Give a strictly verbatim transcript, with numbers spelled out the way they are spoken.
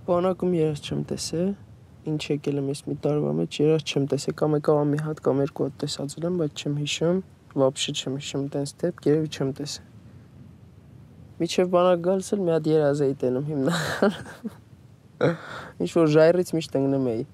Բանակում երազ չեմ տեսել, ինչ եկել եմ ես մի տարվա մեջ երազ չեմ տեսել, կամ եկավ մի հատ կամ երկու հատ տեսածել եմ, բայց չեմ հիշում, вообще չեմ հիշում տենց դեպք, երևի չեմ տեսել։ Միջև բանակ գալիս էլ մի հատ երազ էի տենում հիմնական։ Ինչ որ ժայռից միշտ ընկնում էի։